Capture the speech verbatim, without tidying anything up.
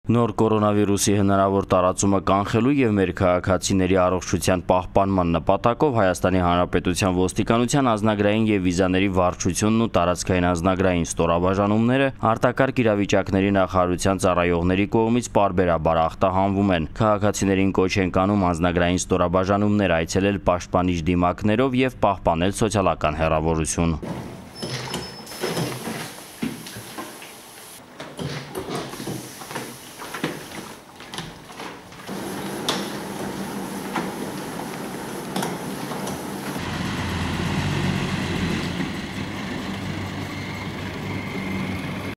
Նոր կորոնավիրուսի հնարավոր տարածումը կանխելու և մեր քաղաքացիների առողջության պահպանման նպատակով Հայաստանի Հանրապետության ոստիկանության անձնագրային և վիզաների վարչությունն ու տարածքային անձնագրային ստորաբաժանումները արտակարգ իրավիճակների նախարարության ծառայողների կողմից պարբերաբար ախտահանվում են։ Քաղաքացիներին կոչ ենք անում անձնագրային ստորաբաժանումներ այցելել պաշտպանիչ դիմակներով և պահպանել սոցիալական հեռավորություն։